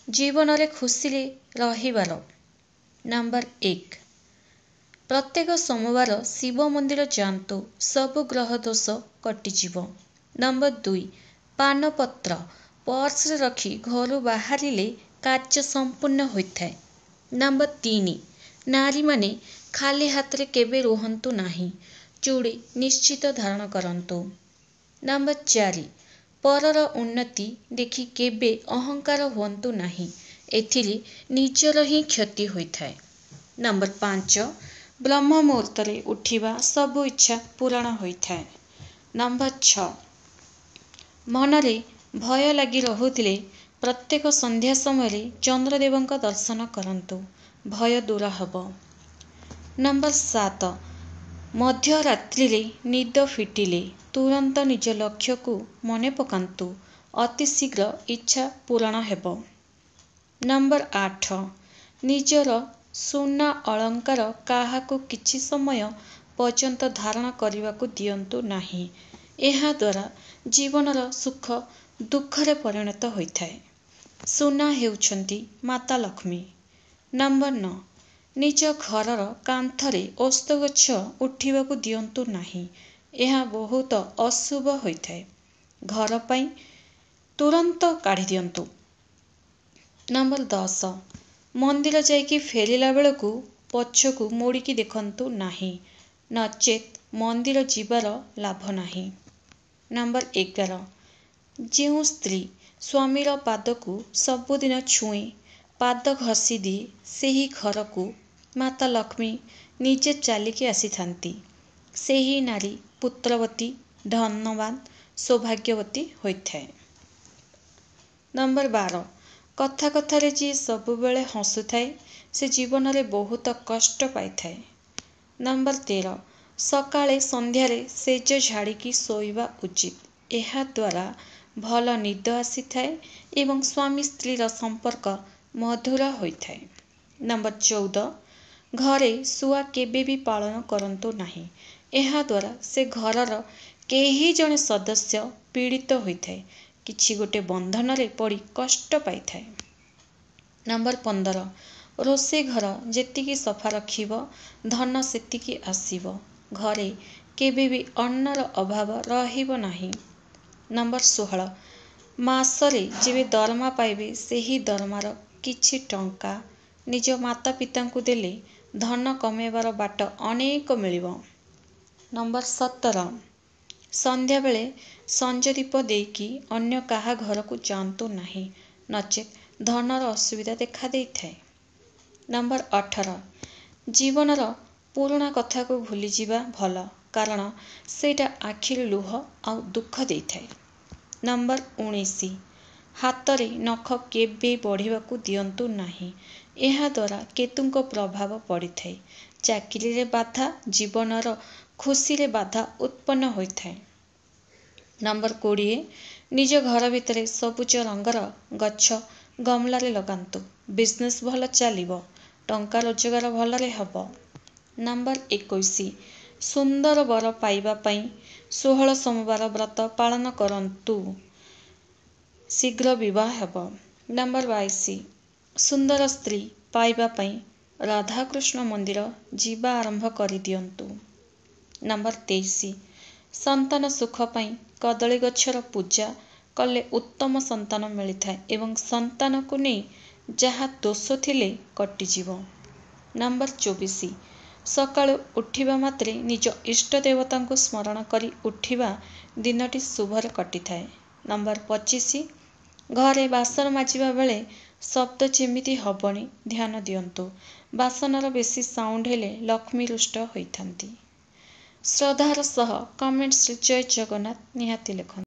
ଜୀବନରେ ଖୁସିରେ ରହିବାର। ନମ୍ବର 1, ପ୍ରତ୍ୟେକ ସୋମବାର ଶିବ ମନ୍ଦିର ଯାଆନ୍ତୁ, ସବୁ ଗ୍ରହ ଦୋଷ କଟିଯିବ। ନମ୍ବର 2, ପାନପତ୍ର ପର୍ସରେ ରଖି ଘରୁ ବାହାରିଲେ କାର୍ଯ୍ୟ ସମ୍ପୂର୍ଣ୍ଣ ହୋଇଥାଏ। ନମ୍ବର 3, ନାରୀମାନେ ଖାଲି ହାତରେ କେବେ ରୁହନ୍ତୁ ନାହିଁ, ଚୁଡ଼ି ନିଶ୍ଚିତ ଧାରଣ କରନ୍ତୁ। ନମ୍ବର 4, ପରର ଉନ୍ନତି ଦେଖି କେବେ ଅହଙ୍କାର ହୁଅନ୍ତୁ ନାହିଁ, ଏଥିରେ ନିଜର ହିଁ କ୍ଷତି ହୋଇଥାଏ। ନମ୍ବର 5, ବ୍ରହ୍ମ ମୁହୂର୍ତ୍ତରେ ଉଠିବା ସବୁ ଇଚ୍ଛା ପୂରଣ ହୋଇଥାଏ। ନମ୍ବର 6, ମନରେ ଭୟ ଲାଗି ରହୁଥିଲେ ପ୍ରତ୍ୟେକ ସନ୍ଧ୍ୟା ସମୟରେ ଚନ୍ଦ୍ରଦେବଙ୍କ ଦର୍ଶନ କରନ୍ତୁ, ଭୟ ଦୂର ହେବ। ନମ୍ବର 7, ମଧ୍ୟରାତ୍ରିରେ ନିଦ ଫିଟିଲେ ତୁରନ୍ତ ନିଜ ଲକ୍ଷ୍ୟକୁ ମନେ ପକାନ୍ତୁ, ଅତି ଶୀଘ୍ର ଇଚ୍ଛା ପୂରଣ ହେବ। ନମ୍ବର 8, ନିଜର ସୁନା ଅଳଙ୍କାର କାହାକୁ କିଛି ସମୟ ପର୍ଯ୍ୟନ୍ତ ଧାରଣ କରିବାକୁ ଦିଅନ୍ତୁ ନାହିଁ, ଏହାଦ୍ୱାରା ଜୀବନର ସୁଖ ଦୁଃଖରେ ପରିଣତ ହୋଇଥାଏ। ସୁନା ହେଉଛନ୍ତି ମାତା ଲକ୍ଷ୍ମୀ। ନମ୍ବର 9, ନିଜ ଘରର କାନ୍ଥରେ ଓସ୍ତ ଗଛ ଉଠିବାକୁ ଦିଅନ୍ତୁ ନାହିଁ, ଏହା ବହୁତ ଅଶୁଭ ହୋଇଥାଏ, ଘର ପାଇଁ ତୁରନ୍ତ କାଢ଼ି ଦିଅନ୍ତୁ। ନମ୍ବର 10, ମନ୍ଦିର ଯାଇକି ଫେରିଲା ବେଳକୁ ପଛକୁ ମୋଡ଼ିକି ଦେଖନ୍ତୁ ନାହିଁ, ନଚେତ୍ ମନ୍ଦିର ଯିବାର ଲାଭ ନାହିଁ। ନମ୍ବର 11, ଯେଉଁ ସ୍ତ୍ରୀ ସ୍ୱାମୀର ପାଦକୁ ସବୁଦିନ ଛୁଏଁ, ପାଦ ଘଷି ଦିଏ, ସେହି ଘରକୁ ମାତା ଲକ୍ଷ୍ମୀ ନିଜେ ଚାଲିକି ଆସିଥାନ୍ତି। ସେହି ନାରୀ ପୁତ୍ରବତୀ, ଧନବାନ, ସୌଭାଗ୍ୟବତୀ ହୋଇଥାଏ। ନମ୍ବର 12, କଥା କଥାରେ ଯିଏ ସବୁବେଳେ ହସୁଥାଏ ସେ ଜୀବନରେ ବହୁତ କଷ୍ଟ ପାଇଥାଏ। ନମ୍ବର 13, ସକାଳେ ସନ୍ଧ୍ୟାରେ ଶେଯ ଝାଡ଼ିକି ଶୋଇବା ଉଚିତ, ଏହାଦ୍ୱାରା ଭଲ ନିଦ ଆସିଥାଏ ଏବଂ ସ୍ୱାମୀ ସ୍ତ୍ରୀର ସମ୍ପର୍କ ମଧୁର ହୋଇଥାଏ। ନମ୍ବର 14, ଘରେ ଶୁଆ କେବେ ବି ପାଳନ କରନ୍ତୁ ନାହିଁ, ଏହାଦ୍ୱାରା ସେ ଘରର କେହି ଜଣେ ସଦସ୍ୟ ପୀଡ଼ିତ ହୋଇଥାଏ, କିଛି ଗୋଟେ ବନ୍ଧନରେ ପଡ଼ି କଷ୍ଟ ପାଇଥାଏ। ନମ୍ବର 15, ରୋଷେଇ ଘର ଯେତିକି ସଫା ରଖିବ ଧନ ସେତିକି ଆସିବ, ଘରେ କେବେ ବି ଅନ୍ନର ଅଭାବ ରହିବ ନାହିଁ। ନମ୍ବର 16, ମାସରେ ଯେବେ ଦରମା ପାଇବେ ସେହି ଦରମାର କିଛି ଟଙ୍କା ନିଜ ମାତା ପିତାଙ୍କୁ ଦେଲେ ଧନ କମେଇବାର ବାଟ ଅନେକ ମିଳିବ। ନମ୍ବର 17, ସନ୍ଧ୍ୟାବେଳେ ସଞ୍ଜ ଦୀପ ଦେଇକି ଅନ୍ୟ କାହା ଘରକୁ ଯାଆନ୍ତୁ ନାହିଁ, ନଚେତ୍ ଧନର ଅସୁବିଧା ଦେଖା ଦେଇଥାଏ। ନମ୍ବର 18, ଜୀବନର ପୁରୁଣା କଥାକୁ ଭୁଲିଯିବା ଭଲ, କାରଣ ସେଇଟା ଆଖିରୁ ଲୁହ ଆଉ ଦୁଃଖ ଦେଇଥାଏ। ନମ୍ବର 19, ହାତରେ ନଖ କେବେ ବଢ଼ିବାକୁ ଦିଅନ୍ତୁ ନାହିଁ, ଏହାଦ୍ୱାରା କେତୁଙ୍କ ପ୍ରଭାବ ପଡ଼ିଥାଏ, ଚାକିରିରେ ବାଧା, ଜୀବନର ଖୁସିରେ ବାଧା ଉତ୍ପନ୍ନ ହୋଇଥାଏ। ନମ୍ବର 20, ନିଜ ଘର ଭିତରେ ସବୁଜ ରଙ୍ଗର ଗଛ ଗମଲାରେ ଲଗାନ୍ତୁ, ବିଜନେସ୍ ଭଲ ଚାଲିବ, ଟଙ୍କା ରୋଜଗାର ଭଲରେ ହେବ। ନମ୍ବର 21, ସୁନ୍ଦର ବର ପାଇବା ପାଇଁ 16 ସୋମବାର ବ୍ରତ ପାଳନ କରନ୍ତୁ, ଶୀଘ୍ର ବିବାହ ହେବ। ନମ୍ବର 22, ସୁନ୍ଦର ସ୍ତ୍ରୀ ପାଇବା ପାଇଁ ରାଧାକୃଷ୍ଣ ମନ୍ଦିର ଯିବା ଆରମ୍ଭ କରିଦିଅନ୍ତୁ। ନମ୍ବର 23, ସନ୍ତାନ ସୁଖ ପାଇଁ କଦଳୀ ଗଛର ପୂଜା କଲେ ଉତ୍ତମ ସନ୍ତାନ ମିଳିଥାଏ ଏବଂ ସନ୍ତାନକୁ ନେଇ ଯାହା ଦୋଷ ଥିଲେ କଟିଯିବ। ନମ୍ବର 24, ସକାଳୁ ଉଠିବା ମାତ୍ରେ ନିଜ ଇଷ୍ଟ ଦେବତାଙ୍କୁ ସ୍ମରଣ କରି ଉଠିବା ଦିନଟି ଶୁଭରେ କଟିଥାଏ। ନମ୍ବର 25, ଘରେ ବାସନ ମାଜିବା ବେଳେ ଶବ୍ଦ ଯେମିତି ହେବନି ଧ୍ୟାନ ଦିଅନ୍ତୁ, ବାସନର ବେଶୀ ସାଉଣ୍ଡ ହେଲେ ଲକ୍ଷ୍ମୀ ରୁଷ୍ଟ ହୋଇଥାନ୍ତି। ଶ୍ରଦ୍ଧାର ସହ କମେଣ୍ଟସରେ ଜୟ ଜଗନ୍ନାଥ ନିହାତି ଲେଖନ୍ତୁ।